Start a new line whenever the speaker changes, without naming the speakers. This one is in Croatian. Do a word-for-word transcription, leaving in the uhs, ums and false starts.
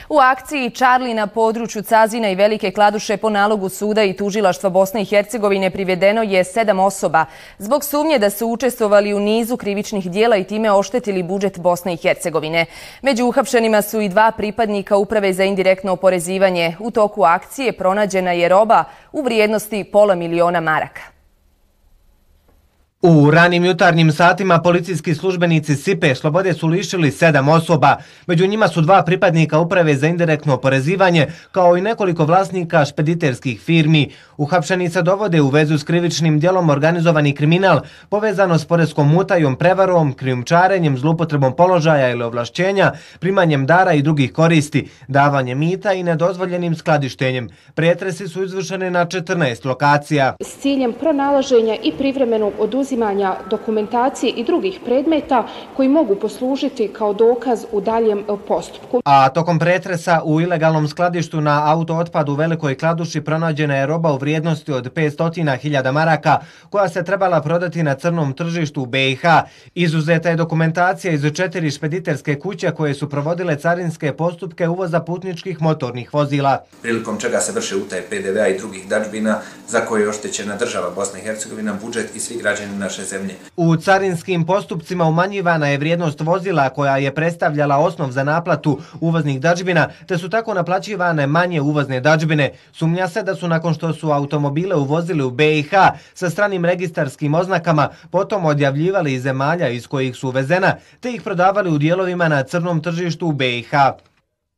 U akciji Čarli na području Cazina i Velike Kladuše po nalogu suda i tužilaštva Bosne i Hercegovine privedeno je sedam osoba zbog sumnje da su učestvovali u nizu krivičnih dijela i time oštetili budžet Bosne i Hercegovine. Među uhapšenima su i dva pripadnika Uprave za indirektno oporezivanje. U toku akcije pronađena je roba u vrijednosti pola miliona maraka.
U ranim jutarnjim satima policijski službenici Sipe slobode su lišili sedam osoba. Među njima su dva pripadnika Uprave za indirektno oporezivanje, kao i nekoliko vlasnika špediterskih firmi. Uhapšeni se dovode u vezu s krivičnim djelom organizovani kriminal, povezano s poreskom utajom, prevarom, krijumčarenjem, zlupotrebom položaja ili ovlašćenja, primanjem dara i drugih koristi, davanjem mita i nedozvoljenim skladištenjem. Pretresi su izvršeni na četrnaest lokacija.
S ciljem pronalaženja i privremenog oduzimanja dokumentacije i drugih predmeta koji mogu poslužiti kao dokaz u daljem postupku.
A tokom pretresa u ilegalnom skladištu na autootpadu u Velikoj Kladuši pronađena je roba u vrijednosti od petsto hiljada maraka koja se trebala prodati na crnom tržištu u B i H. Izuzeta je dokumentacija iz četiri špediterske kuće koje su provodile carinske postupke uvoza putničkih motornih vozila.
Prilikom čega se vrše utaje P D V-a i drugih dadžbina za koje je oštećena država Bosna i Hercegovina, budžet i svi građani naše zemlje.
U carinskim postupcima umanjivana je vrijednost vozila koja je predstavljala osnov za naplatu uvoznih dadžbina, te su tako naplaćivane manje uvozne dadžbine. Sumnja se da su nakon što su automobile uvozili u B i H sa stranim registarskim oznakama, potom odjavljivali iz zemalja iz kojih su uvezena, te ih prodavali u dijelovima na crnom tržištu u B i H.